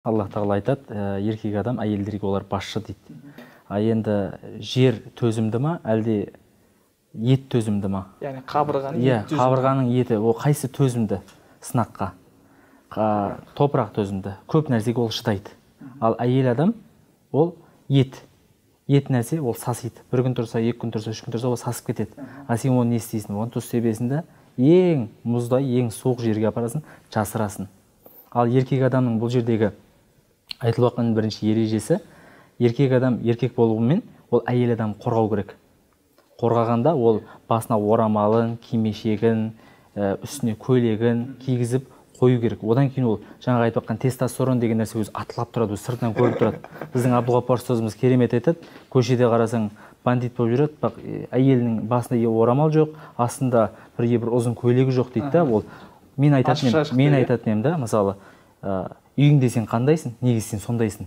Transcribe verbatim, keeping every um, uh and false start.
Аллах тағала айтады, еркек адам әйелдерге олар басшы дейді. А енді жер төзімді ма, әлде ет төзімді ма? Яғни қабырғаның еті төзімді. Қабырғаның еті, ол қайсы төзімді сынаққа? Топырақ төзімді, көп нәрсеге ол шыдайды. Ал әйел адам ол ет. Ет нәрсе ол сасиды. Бір күн тұрса, екі күн тұрса, үш күн тұрса, ол сасып кетеді. А сен оны не істейсің? Оны тұз себесінде ең мұздай, ең суық жерге апарасын, жасырасын. Ал еркек адамның бұл жердегі айтылып жатқан бірінші ережесі, еркек адам еркек болуымен ол әйел адам қорғау керек. Қорғағанда ол басына орамалын, кимешегін, үстіне көйлегін кигізіп қою керек. Одан кейін ол жаңағы айтып жатқан тестостерон деген нәрсе өзі атылап тұрады, өзі сыртынан көріп тұрады. Біздің Абдулғапар ұстазымыз керемет айтады, көшеде қарасаң бандит болып жүреді, бірақ әйелінің басында орамал жоқ, астында бірге бір ұзын көйлегі жоқ дейді да. Ол мен айтатын едім, мен айтатын едім да, мысалы, үйіңде сен қандайсың, неге сен сондайсың?